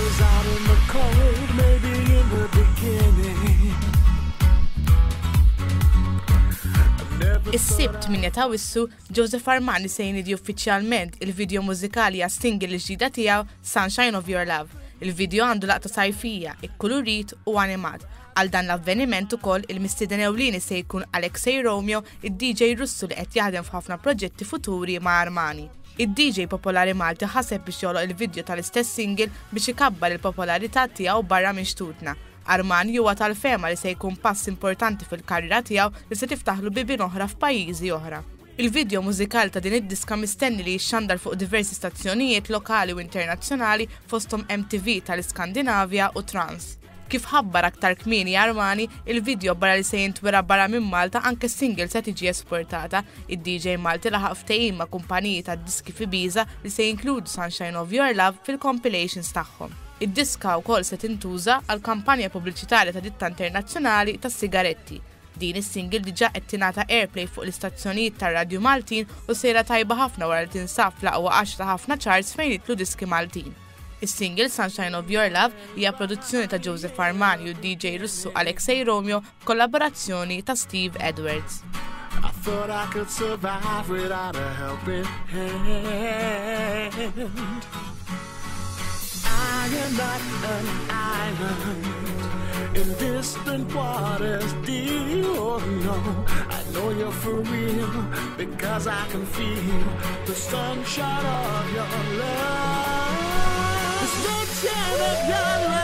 was out in the cold, maybe in the beginning. Is-Sibt 8 ta' Awwissu, Joseph Armani se jniedi uffiċjalment il-video mużikali għas-single il-ġdida tiegħu Sunshine of Your Love. Il-video għandu laqta sajfija, ikkulurit u animat. Għal dan l-avveniment ukoll il-mistieden ewlieni se jkun Alexei Romeo, id-DJ Russu li qed jaħdem f'ħafna proġetti futuri ma' Armani. Id-DJ popolari Malti ħaseb biex joħloq il-video tal-istess single biex ikabbar il-popolarità tiegħu barra minn xtutna. Armani huwa tal-fehma li se jkun pass importanti fil-karriera tiegħu li se tiftaħlu bibien oħra f'pajjiżi oħra. Il-video mużikali ta' din id-diska mistenni li jixxandar fuq diversi stazzjonijiet lokali u internazzjonali fosthom MTV tal-Iskandinavja u Trans. Kif ħabbar aktar kmieni Armani, il-video barra li se jintwera barra minn Malta anke s-single se tiġi esportata. Id-DJ Malti laħaq ftehim ma' kumpaniji tad-diski f'Ibiza li se jinkludu Sunshine of Your Love fil-compilations tagħhom. Id-diska wkoll se tintuża għal kampanja pubbliċitarja ta' ditta internazzjonali tas-sigaretti. Din is-single diġà qed tingħata airplay fuq l-istazzjonijiet tar-radju Maltin u sejra tajba ħafna wara li tinsab fl-aqwa għaxra ta' ħafna charts fejn jidħlu diski Maltin. Is-single Sunshine of Your Love hija produzzjoni ta' Joseph Armani u d-DJ Russu Alexei Romeo b'kollaborazzjoni ta' Steve Edwards. I thought I could survive without a helping hand. I am not an island in distant waters deep. Oh no, I know you're for real because I can feel the sunshine of your love. The sunshine of your love.